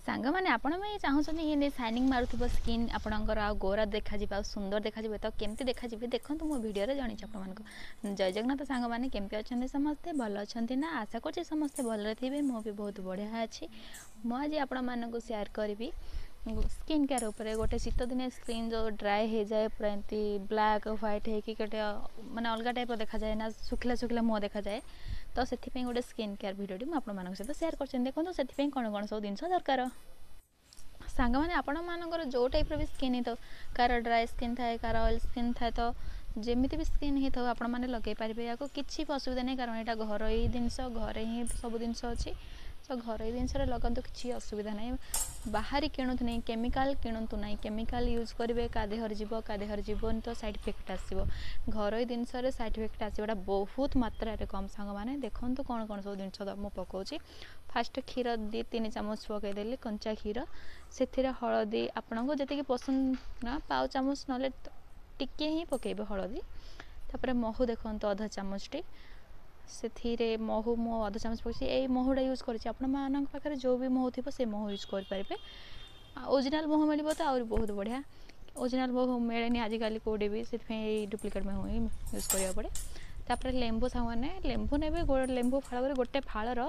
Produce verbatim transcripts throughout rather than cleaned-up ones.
ସାଙ୍ଗମାନେ ଆପଣ ବି ଚାହୁଁଛନ୍ତି ଏମିତି ସାଇନିଂ ମାରୁଥିବ ସ୍କିନ୍ ଆପଣଙ୍କର ଆଉ ଗୋରା ଦେଖାଯିବ ଆଉ ସୁନ୍ଦର ଦେଖାଯିବ ତ କେମିତି ଦେଖାଯିବେ ଦେଖନ୍ତୁ ମୋ ଭିଡ଼ିଓରେ ଜଣେଇଛି ଆପଣମାନଙ୍କୁ ଜୟ ଜଗନ୍ନାଥ ସାଙ୍ଗମାନେ କେମିତି ଅଛନ୍ତି ସମସ୍ତେ ଭଲ ଅଛନ୍ତି ନା ଆଶା କରୁଛି ସମସ୍ତେ ଭଲରେ ଥିବେ ମୁଁ ବି ବହୁତ ବଢ଼ିଆ ଅଛି ମୁଁ ଆଜି ଆପଣମାନଙ୍କୁ ସେୟାର କରିବି ସ୍କିନ୍ କେୟାର ଉପରେ ଗୋଟେ ଶୀତ ଦିନେ ସ୍କିନ୍ ଯେଉଁ ଡ୍ରାଏ ହେଇଯାଏ ପୁରା ଏମିତି ବ୍ଲାକ୍ ହ୍ୱାଇଟ୍ ହେଇକି ଗୋଟେ ମାନେ ଅଲଗା ଟାଇପ୍ର ଦେଖାଯାଏ ନା ଶୁଖିଲା ଶୁଖିଲା ମୁହଁ ଦେଖାଯାଏ ତ ସେଥିପାଇଁ ଗୋଟେ ସ୍କିନ୍ କେୟାର ଭିଡ଼ିଓଟି ମୁଁ ଆପଣମାନଙ୍କ ସହିତ ସେୟାର କରୁଛନ୍ତି ଦେଖନ୍ତୁ ସେଥିପାଇଁ କ'ଣ କ'ଣ ସବୁ ଜିନିଷ ଦରକାର ସାଙ୍ଗମାନେ ଆପଣମାନଙ୍କର ଯେଉଁ ଟାଇପ୍ର ବି ସ୍କିନ୍ ହେଇଥାଉ କାହାର ଡ୍ରାଏ ସ୍କିନ୍ ଥାଏ କାହାର ଅଏଲ୍ ସ୍କିନ୍ ଥାଏ ତ ଯେମିତି ବି ସ୍କିନ୍ ହେଇଥାଉ ଆପଣମାନେ ଲଗାଇ ପାରିବେ ୟାକୁ କିଛି ବି ଅସୁବିଧା ନାହିଁ କାରଣ ଏଇଟା ଘରୋଇ ଜିନିଷ ଘରେ ହିଁ ସବୁ ଜିନିଷ ଅଛି ତ ଘରୋଇ ଜିନିଷରେ ଲଗାନ୍ତୁ କିଛି ଅସୁବିଧା ନାହିଁ ବାହାରି କିଣନ୍ତୁ ନାହିଁ କେମିକାଲ କିଣନ୍ତୁ ନାହିଁ କେମିକାଲ ୟୁଜ୍ କରିବେ କାହା ଦେହରେ ଯିବ କାହା ଦେହରେ ଯିବନି ତ ସାଇଡ଼୍ ଇଫେକ୍ଟ ଆସିବ ଘରୋଇ ଜିନିଷରେ ସାଇଡ଼୍ ଇଫେକ୍ଟ ଆସିବାଟା ବହୁତ ମାତ୍ରାରେ କମ୍ ସାଙ୍ଗମାନେ ଦେଖନ୍ତୁ କ'ଣ କ'ଣ ସବୁ ଜିନିଷ ମୁଁ ପକାଉଛି ଫାଷ୍ଟ କ୍ଷୀର ଦୁଇ ତିନି ଚାମଚ ପକାଇଦେଲି କଞ୍ଚା କ୍ଷୀର ସେଥିରେ ହଳଦୀ ଆପଣଙ୍କୁ ଯେତିକି ପସନ୍ଦ ନା ପାଉ ଚାମଚ ନହେଲେ ଟିକେ ହିଁ ପକାଇବେ ହଳଦୀ ତାପରେ ମହୁ ଦେଖନ୍ତୁ ଅଧ ଚାମଚଟି ସେଥିରେ ମହୁ ମୁଁ ଅଧ ଚାମଚ ପକାଇଛି ଏଇ ମହୁଟା ୟୁଜ୍ କରିଛି ଆପଣମାନଙ୍କ ପାଖରେ ଯେଉଁ ବି ମହୁ ଥିବ ସେ ମହୁ ୟୁଜ୍ କରିପାରିବେ ଆଉ ଓରିଜିନାଲ୍ ମହୁ ମିଳିବ ତ ଆହୁରି ବହୁତ ବଢ଼ିଆ ଓରିଜିନାଲ୍ ମହୁ ମିଳେନି ଆଜିକାଲି କେଉଁଠି ବି ସେଥିପାଇଁ ଏଇ ଡୁପ୍ଲିକେଟ୍ ମହୁ ହିଁ ୟୁଜ୍ କରିବାକୁ ପଡ଼େ ତାପରେ ଲେମ୍ବୁ ସାଙ୍ଗମାନେ ଲେମ୍ବୁ ନେବେ ଲେମ୍ବୁ ଫାଳ କରି ଗୋଟେ ଫାଳର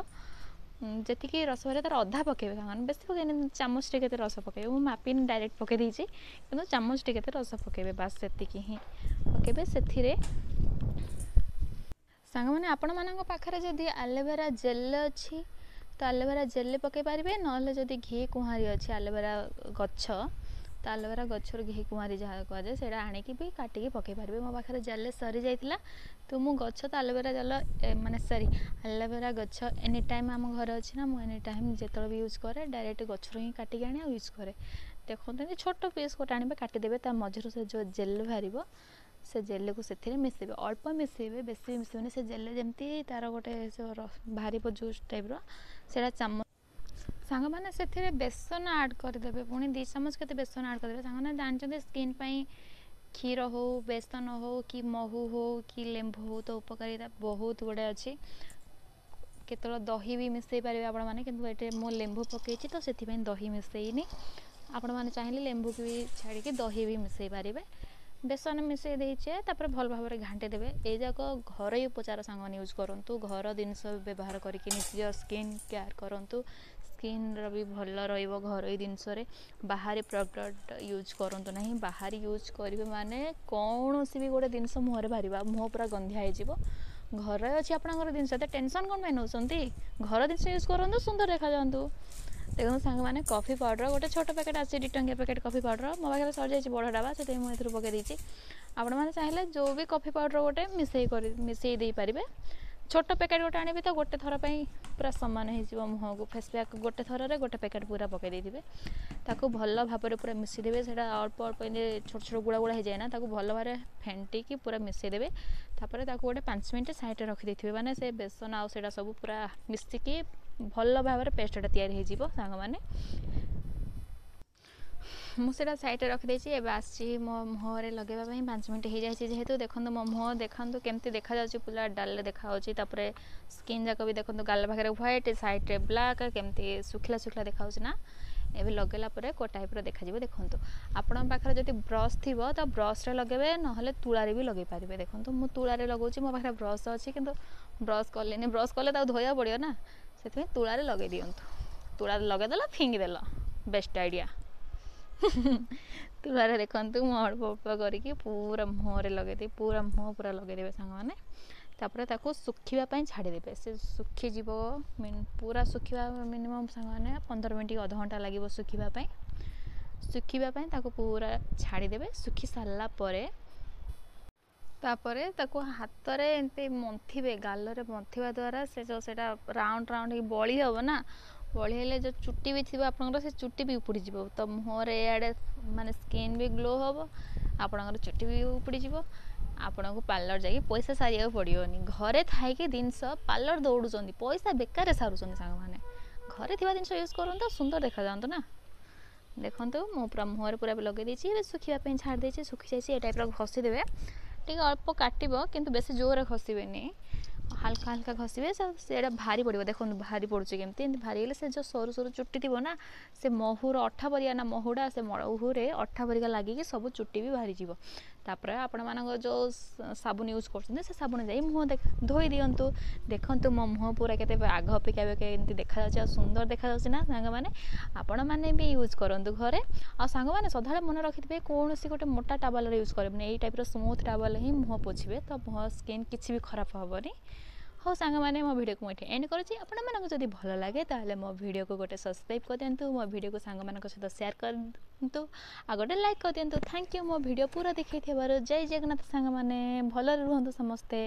ଯେତିକି ରସ ବାହାରିବ ତାର ଅଧା ପକାଇବେ ସାଙ୍ଗମାନେ ବେଶୀ ପକାଇନି ଚାମଚଟେ କେତେ ରସ ପକାଇବେ ମୁଁ ମାପିନି ଡାଇରେକ୍ଟ ପକାଇ ଦେଇଛି କିନ୍ତୁ ଚାମଚଟେ କେତେ ରସ ପକାଇବେ ବାସ୍ ସେତିକି ହିଁ ପକାଇବେ ସେଥିରେ ସାଙ୍ଗମାନେ ଆପଣମାନଙ୍କ ପାଖରେ ଯଦି ଆଲୋଭେରା ଜେଲ୍ ଅଛି ତ ଆଲୋଭେରା ଜେଲ୍ ପକାଇ ପାରିବେ ନହେଲେ ଯଦି ଘି କୁଆଁରୀ ଅଛି ଆଲୋଭେରା ଗଛ ତ ଆଲୋଭେରା ଗଛରୁ ଘି କୁଆଁରୀ ଯାହା କୁହାଯାଏ ସେଇଟା ଆଣିକି ବି କାଟିକି ପକାଇ ପାରିବେ ମୋ ପାଖରେ ଜେଲ୍ ସରିଯାଇଥିଲା ତ ମୁଁ ଗଛ ତ ଆଲୋଭେରା ଜେଲ୍ ମାନେ ସରି ଆଲୋଭେରା ଗଛ ଏନି ଟାଇମ୍ ଆମ ଘରେ ଅଛି ନା ମୁଁ ଏନି ଟାଇମ୍ ଯେତେବେଳେ ବି ୟୁଜ୍ କରେ ଡାଇରେକ୍ଟ ଗଛରୁ ହିଁ କାଟିକି ଆଣି ଆଉ ୟୁଜ୍ କରେ ଦେଖନ୍ତୁ ଏମିତି ଛୋଟ ପିସ୍ ଗୋଟେ ଆଣିବେ କାଟିଦେବେ ତା ମଝିରୁ ସେ ଯେଉଁ ଜେଲ୍ ବାହାରିବ ସେ ଜେଲ୍କୁ ସେଥିରେ ମିଶାଇବେ ଅଳ୍ପ ମିଶାଇବେ ବେଶୀ ବି ମିଶାଇବେନି ସେ ଜେଲ୍ ଯେମିତି ତା'ର ଗୋଟେ ସେ ବାହାରିବ ଜୁସ୍ ଟାଇପ୍ର ସେଇଟା ଚାମଚ ସାଙ୍ଗମାନେ ସେଥିରେ ବେସନ ଆଡ଼୍ କରିଦେବେ ପୁଣି ଦୁଇ ଚାମଚ କେତେ ବେସନ ଆଡ଼୍ କରିଦେବେ ସାଙ୍ଗମାନେ ଜାଣିଛନ୍ତି ସ୍କିନ୍ ପାଇଁ କ୍ଷୀର ହଉ ବେସନ ହଉ କି ମହୁ ହଉ କି ଲେମ୍ବୁ ହଉ ତ ଉପକାରିତା ବହୁତ ଗୁଡ଼ାଏ ଅଛି କେତେବେଳେ ଦହି ବି ମିଶାଇ ପାରିବେ ଆପଣମାନେ କିନ୍ତୁ ଏଠି ମୁଁ ଲେମ୍ବୁ ପକାଇଛି ତ ସେଥିପାଇଁ ଦହି ମିଶାଇନି ଆପଣମାନେ ଚାହିଁଲେ ଲେମ୍ବୁକୁ ବି ଛାଡ଼ିକି ଦହି ବି ମିଶାଇ ପାରିବେ ବେସନ ମିଶାଇ ଦେଇଛେ ତାପରେ ଭଲ ଭାବରେ ଘାଣ୍ଟି ଦେବେ ଏଇ ଯାକ ଘରୋଇ ଉପଚାର ସାଙ୍ଗମାନେ ୟୁଜ୍ କରନ୍ତୁ ଘର ଜିନିଷ ବ୍ୟବହାର କରିକି ନିଜ ସ୍କିନ୍ କେୟାର କରନ୍ତୁ ସ୍କିନ୍ର ବି ଭଲ ରହିବ ଘରୋଇ ଜିନିଷରେ ବାହାରେ ପ୍ରଡ଼କ୍ଟ ୟୁଜ୍ କରନ୍ତୁ ନାହିଁ ବାହାରେ ୟୁଜ୍ କରିବେ ମାନେ କୌଣସି ବି ଗୋଟେ ଜିନିଷ ମୁହଁରେ ବାହାରିବ ମୁହଁ ପୁରା ଗନ୍ଧିଆ ହେଇଯିବ ଘରେ ଅଛି ଆପଣଙ୍କର ଜିନିଷ ଏତେ ଟେନସନ୍ କ'ଣ ପାଇଁ ନେଉଛନ୍ତି ଘର ଜିନିଷ ୟୁଜ୍ କରନ୍ତୁ ସୁନ୍ଦର ଦେଖାଯାଆନ୍ତୁ ଦେଖନ୍ତୁ ସାଙ୍ଗମାନେ କଫି ପାଉଡ଼ର ଗୋଟେ ଛୋଟ ପ୍ୟାକେଟ୍ ଅଛି ଦୁଇ ଟଙ୍କିଆ ପ୍ୟାକେଟ୍ କଫି ପାଉଡ଼ର ମୋ ପାଖରେ ସରିଯାଇଛି ବଡ଼ ଡବା ସେଥିପାଇଁ ମୁଁ ଏଥିରୁ ପକାଇ ଦେଇଛି ଆପଣମାନେ ଚାହିଁଲେ ଯେଉଁ ବି କଫି ପାଉଡ଼ର ଗୋଟେ ମିଶାଇ କରି ମିଶାଇ ଦେଇପାରିବେ ଛୋଟ ପ୍ୟାକେଟ୍ ଗୋଟେ ଆଣିବେ ତ ଗୋଟେ ଥର ପାଇଁ ପୁରା ସମାନ ହେଇଯିବ ମୁହଁକୁ ଫେସ୍ ପ୍ୟାକ୍ ଗୋଟେ ଥରରେ ଗୋଟେ ପ୍ୟାକେଟ୍ ପୁରା ପକାଇ ଦେଇଥିବେ ତାକୁ ଭଲ ଭାବରେ ପୁରା ମିଶାଇ ଦେବେ ସେଇଟା ଅଳ୍ପ ଅଳ୍ପ ଏମିତି ଛୋଟ ଛୋଟ ଗୁଳା ଗୁଳା ହେଇଯାଏ ନା ତାକୁ ଭଲ ଭାବରେ ଫେଣ୍ଟିକି ପୁରା ମିଶାଇ ଦେବେ ତାପରେ ତାକୁ ଗୋଟେ ପାଞ୍ଚ ମିନିଟ୍ ସାଇଡ଼୍ରେ ରଖିଦେଇଥିବେ ମାନେ ସେ ବେସନ ଆଉ ସେଇଟା ସବୁ ପୁରା ମିଶିକି ଭଲ ଭାବରେ ପେଷ୍ଟଟା ତିଆରି ହେଇଯିବ ସାଙ୍ଗମାନେ ମୁଁ ସେଇଟା ସାଇଡ଼୍ରେ ରଖିଦେଇଛି ଏବେ ଆସିଛି ମୋ ମୁହଁରେ ଲଗାଇବା ପାଇଁ ପାଞ୍ଚ ମିନିଟ୍ ହେଇଯାଇଛି ଯେହେତୁ ଦେଖନ୍ତୁ ମୋ ମୁହଁ ଦେଖନ୍ତୁ କେମିତି ଦେଖାଯାଉଛି ପୁରା ଡାଲରେ ଦେଖାଯାଉଛି ତାପରେ ସ୍କିନ୍ ଯାକ ବି ଦେଖନ୍ତୁ ଗାଲ ପାଖରେ ହ୍ୱାଇଟ୍ ସାଇଡ଼୍ରେ ବ୍ଲାକ୍ କେମିତି ଶୁଖିଲା ଶୁଖିଲା ଦେଖାଯାଉଛି ନା ଏବେ ଲଗାଇଲା ପରେ କେଉଁ ଟାଇପ୍ର ଦେଖାଯିବ ଦେଖନ୍ତୁ ଆପଣଙ୍କ ପାଖରେ ଯଦି ବ୍ରସ୍ ଥିବ ତ ବ୍ରସ୍ରେ ଲଗାଇବେ ନହେଲେ ତୁଳାରେ ବି ଲଗାଇ ପାରିବେ ଦେଖନ୍ତୁ ମୁଁ ତୁଳାରେ ଲଗାଉଛି ମୋ ପାଖରେ ବ୍ରସ୍ ଅଛି କିନ୍ତୁ ବ୍ରସ୍ କଲିନି ବ୍ରସ୍ କଲେ ତାକୁ ଧୋଇବାକୁ ପଡ଼ିବ ନା ସେଥିପାଇଁ ତୁଳାରେ ଲଗାଇ ଦିଅନ୍ତୁ ତୁଳାରେ ଲଗାଇଦେଲ ଫିଙ୍ଗିଦେଲ ବେଷ୍ଟ ଆଇଡ଼ିଆ ତୁଳାରେ ଦେଖନ୍ତୁ ମୁଁ ଅଳ୍ପ ଅଳ୍ପ କରିକି ପୁରା ମୁହଁରେ ଲଗାଇଦେବି ପୁରା ମୁହଁ ପୁରା ଲଗାଇଦେବେ ସାଙ୍ଗମାନେ ତାପରେ ତାକୁ ଶୁଖିବା ପାଇଁ ଛାଡ଼ିଦେବେ ସେ ଶୁଖିଯିବ ପୁରା ଶୁଖିବା ମିନିମମ୍ ସାଙ୍ଗମାନେ ପନ୍ଦର ମିନିଟ୍ ଅଧଘଣ୍ଟା ଲାଗିବ ଶୁଖିବା ପାଇଁ ଶୁଖିବା ପାଇଁ ତାକୁ ପୁରା ଛାଡ଼ିଦେବେ ଶୁଖି ସାରିଲା ପରେ ତାପରେ ତାକୁ ହାତରେ ଏମିତି ମନ୍ଥିବେ ଗାଲରେ ମନ୍ଥିବା ଦ୍ୱାରା ସେ ଯେଉଁ ସେଇଟା ରାଉଣ୍ଡ ରାଉଣ୍ଡ ହେଇକି ବଳି ହେବ ନା ବଳି ହେଲେ ଯେଉଁ ଚୁଟି ବି ଥିବ ଆପଣଙ୍କର ସେ ଚୁଟି ବି ଉପୁଡ଼ିଯିବ ତ ମୁହଁରେ ଏଆଡ଼େ ମାନେ ସ୍କିନ୍ ବି ଗ୍ଲୋ ହେବ ଆପଣଙ୍କର ଚୁଟି ବି ଉପୁଡ଼ିଯିବ ଆପଣଙ୍କୁ ପାର୍ଲର ଯାଇକି ପଇସା ସାରିବାକୁ ପଡ଼ିବନି ଘରେ ଥାଇକି ଜିନିଷ ପାର୍ଲର ଦୌଡ଼ୁଛନ୍ତି ପଇସା ବେକାରରେ ସାରୁଛନ୍ତି ସାଙ୍ଗମାନେ ଘରେ ଥିବା ଜିନିଷ ୟୁଜ୍ କରନ୍ତୁ ସୁନ୍ଦର ଦେଖାଯାଆନ୍ତୁ ନା ଦେଖନ୍ତୁ ମୁଁ ପୁରା ମୁହଁରେ ପୁରା ଲଗାଇ ଦେଇଛି ଏବେ ଶୁଖିବା ପାଇଁ ଛାଡ଼ି ଦେଇଛି ଶୁଖିଯାଇଛି ଏ ଟାଇପ୍ର ଘଷିଦେବେ ଟିକେ ଅଳ୍ପ କାଟିବ କିନ୍ତୁ ବେଶୀ ଜୋରରେ ଘଷିବେନି ହାଲକା ହାଲକା ଘଷିବେ, ସେଇଟା ଭାରି ପଡ଼ିବ। ଦେଖନ୍ତୁ ଭାରି ପଡ଼ୁଛି କେମିତି। ଏମିତି ଭାରି ହେଲେ ସେ ଯେଉଁ ସରୁ ସରୁ ଚୁଟି ଥିବ ନା, ସେ ମହୁର ଅଠା ପରିକା ନା, ମହୁଟା ସେ ମହୁରେ ଅଠା ପରିକା ଲାଗିକି ସବୁ ଚୁଟି ବି ବାହାରିଯିବ। ତାପରେ ଆପଣମାନଙ୍କ ଯେଉଁ ସାବୁନ ୟୁଜ୍ କରୁଛନ୍ତି, ସେ ସାବୁନ ଯାଇ ମୁହଁ ଧୋଇ ଦିଅନ୍ତୁ। ଦେଖନ୍ତୁ ମୋ ମୁହଁ ପୁରା କେତେ ଆଗ ଅପେକ୍ଷା ଏବେ କେମିତି ଦେଖାଯାଉଛି, ଆଉ ସୁନ୍ଦର ଦେଖାଯାଉଛି ନା ସାଙ୍ଗମାନେ? ଆପଣମାନେ ବି ୟୁଜ୍ କରନ୍ତୁ ଘରେ। ଆଉ ସାଙ୍ଗମାନେ, ସଦାବେଳେ ମନେ ରଖିଥିବେ, କୌଣସି ଗୋଟେ ମୋଟା ଟାୱେଲରେ ୟୁଜ୍ କରିବେନି, ଏଇ ଟାଇପ୍ର ସ୍ମୁଥ୍ ଟାୱେଲ ହିଁ ମୁହଁ ପୋଛିବେ, ତ ମୁହଁ ସ୍କିନ୍ କିଛି ବି ଖରାପ ହେବନି। ହଉ ସାଙ୍ଗମାନେ, ମୋ ଭିଡ଼ିଓକୁ ମୁଁ ଏଠି ଏଣ୍ଡ କରୁଛି। ଆପଣମାନଙ୍କୁ ଯଦି ଭଲ ଲାଗେ, ତାହେଲେ ମୋ ଭିଡ଼ିଓକୁ ଗୋଟେ ସବସ୍କ୍ରାଇବ୍ କରିଦିଅନ୍ତୁ, ମୋ ଭିଡ଼ିଓକୁ ସାଙ୍ଗମାନଙ୍କ ସହିତ ସେୟାର କରନ୍ତୁ, ଆଉ ଗୋଟେ ଲାଇକ୍ କରିଦିଅନ୍ତୁ। Thank you ମୋ ଭିଡ଼ିଓ ପୁରା ଦେଖିଥିବାରୁ। ଜୟ ଜଗନ୍ନାଥ ସାଙ୍ଗମାନେ, ଭଲରେ ରୁହନ୍ତୁ ସମସ୍ତେ।